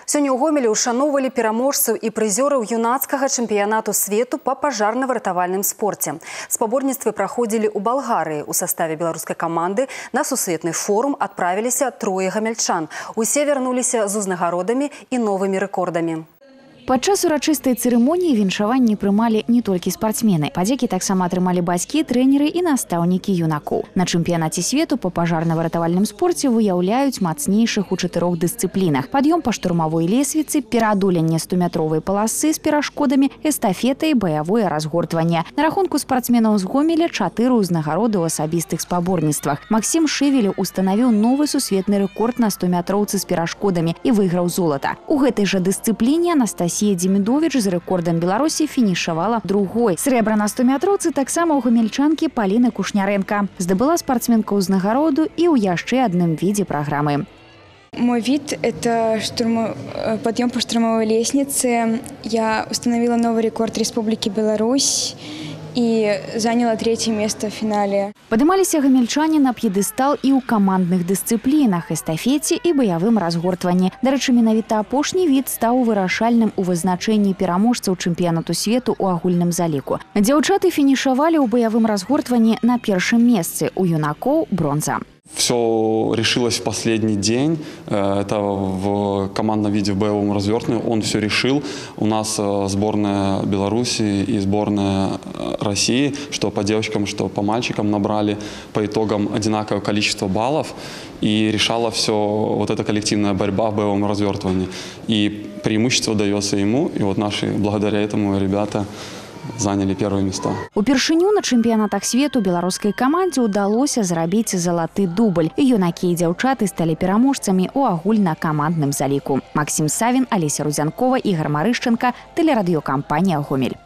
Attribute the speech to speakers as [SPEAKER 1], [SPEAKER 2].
[SPEAKER 1] Сёння ў Гомелі ушаноўвалі пераможцаў і прызёраў юнацкага чэмпіянату свету па пажарна-выратавальным спорце. Спаборніцтвы праходзілі ў Балгарыі. У саставе беларускай каманды на сусветны форум адправіліся 3 гамяльчан. Усе вярнуліся з узнагародамі і новымі рэкордамі.
[SPEAKER 2] Падчас урачыстай цырымоніі віншаванні прымалі не толькі спартсмены. Падзякі таксама атрымалі бацькі, трэнеры і настаўнікі юнакоў. На чэмпіянаце свету па пажарна-выратавальным спорце выяўляюць мацнейшых у 4 дысцыплінах: пад'ём па штурмавой лесвіцы, пераадоленне 100-метровай паласы з перашкодамі, эстафета і баявое разгортванне. На рахунку спартсменаў з Гомеля 4 ўзнагароды ў асабістых спаборніцтвах. Максім Шевелев устанавіў новы сусветны рэкорд на 100-метроўцы з перашкодамі і выйграў золата. У гэтай жа дысцыпліне Анастасія Демидович з рэкордам Беларусі фінішавала другой. Срэбра на 100-метроўцы таксама ў гамельчанкі Паліны Кушнярэнка. Здабыла спартсменка ўзнагароду і ў яшчэ адным відзе праграмы.
[SPEAKER 3] Мой вид – это подъем по штурмовой лестнице. Я установила новый рекорд Республики Беларусь и заняла 3-е место в финале.
[SPEAKER 2] Падымаліся гамельчане на п'едэстал і ў камандных дысцыплінах, эстафеце і баявым разгортванні. Дарэчы, менавіта апошні від стаў вырашальным у вызначэнні пераможцаў чэмпіянату свету ў агульным заліку. Дзяўчаты фінішавалі ў баявым разгортванні на першым месцы, у юнакоў бронза.
[SPEAKER 4] Все решилось в последний день. Это в командном виде в боевом развертывании. Он все решил. У нас сборная Беларуси и сборная России, что по девочкам, что по мальчикам, набрали по итогам одинаковое количество баллов. И решала все вот эта коллективная борьба в боевом развертывании. И преимущество дается ему. И вот наши, благодаря этому, ребята заняли первые места.
[SPEAKER 2] Упершыню на чэмпіянатах свету беларускай камандзе ўдалося зрабіць залаты дубль. І юнакі і дзяўчаты сталі пераможцамі ў агульнакамандным заліку. Максім Савін, Алеся Рудзянкова, Ігор Марышченка, тэлерадыёкампанія «Гомель».